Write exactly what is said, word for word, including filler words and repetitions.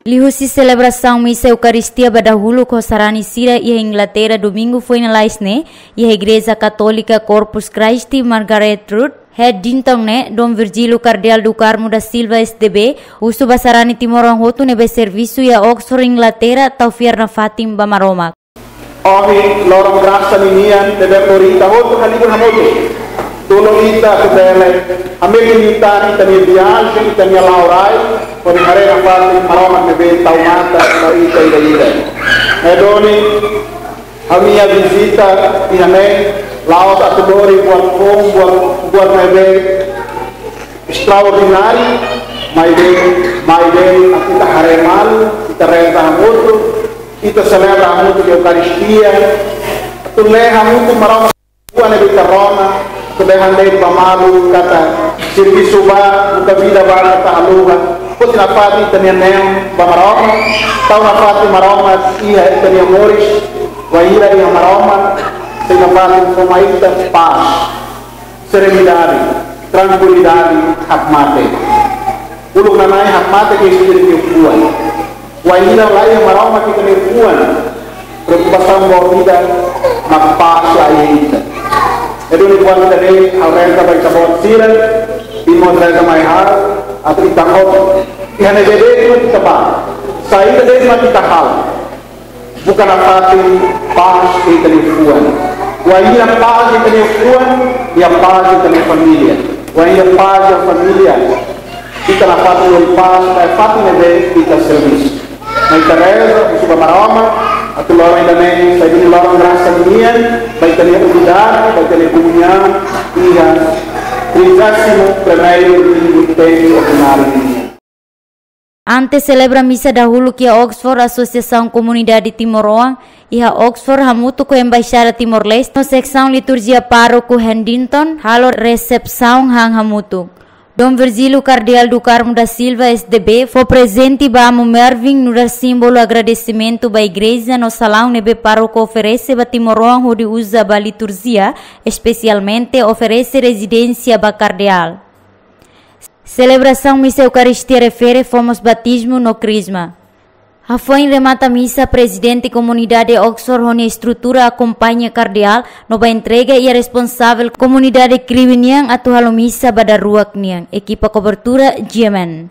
Liuhusi selebrasaun misa Eukaristia ba dahuluk ho sarani sira iha Inglaterra, Domingu foin lalais ne'e, iha Igreja Katólika Corpus Christi Margaret Road, Headington ne'e, Dom Virgílio Kardeál do Carmo da Silva, S D B, husu ba sarani timoroan hotu ne'ebé servisu iha Oxford, Inglaterra, tau fiar nafatin ba Maromak. Ohin loron grasa ninian ne'ebé lori ita hotu halibur hamutuk. Tulun ita atu bele hametin liután ita-nia viajen, ita-nia la'o rai, hodi haree nafatin Maromak ne'ebé tau matan ba ita ida-idak. Ne'e duni, ha'u-nia vizita iha ne'e la'ós atu lori buat foun, buat, buat ne'ebé estraordináriu, maibé, maibé atu ita haree malu, ita reza hamutuk, ita selebra hamutuk Eukaristia, atu lee hamutuk Maromak, buat ne'ebé ita rona, atu dehan de'it ba malu katak servisu bá, buka vida bá katak haluha, foti nafatin ita-nia neon ba Maromak, tau nafatin Maromak iha ita-nia moris, wainhira iha Maromak, sei nafatin fó mai ita pás, serenidade, trankuilidade, hakmatek. Uluk nanain hakmatek ke espíritu fuan. Wainhira la iha Maromak ita-nia fuan, preokupasaun ba vida mak pás la iha ita. Ne'e duni buat ida-ne'e ha'u reza ba ita-boot sira, irmaun reza mai ha'u, atu ita hotu. Iha ne'ebé de'it mak ita bá, saida de'it mak ita halo, buka nafatin pás iha ita-nia fuan. Wainhira pás iha ita-nia fuan, iha pás iha ita-nia família. Wainhira pás iha família, ita nafatin lori pás ba fatin ne'ebé ita servisu. Mai ita reza, husu ba Maromak, atu loron ida-ne'e sai duni loron grasa ninian ba ita-nia unidade, ba ita-nia komuñaun, iha trigésimo primeiro domingu tempu ordináriu ninian. Antes selebra misa dahuluk iha Oxford, Asosiasaun Komunidade Timoroan iha Oxford hamutuk ho Embaixada Timor-Leste no Seksaun Liturjia Pároku Headington halo resepsaun han hamutuk. Dom Virgílio Kardeál do Carmo da Silva, S D B, fó prezente ba Amu Mervin nu'udar símbolu agradesimentu ba igreja no salaun ne'ebé pároku oferese ba timoroan hodi uza ba liturjia, espesialmente oferese rezidénsia ba kardeál. Selebrasaun misa Eukaristia refere fó mós batizmu no krizma. Hafoin remata misa, Prezidente Komunidade Oxford ho nia estrutura akompaña kardeál no bá entrega iha responsavel komunidade kriu nian atu halo misa ba daruak nian. Ekipa kobertura, G M N.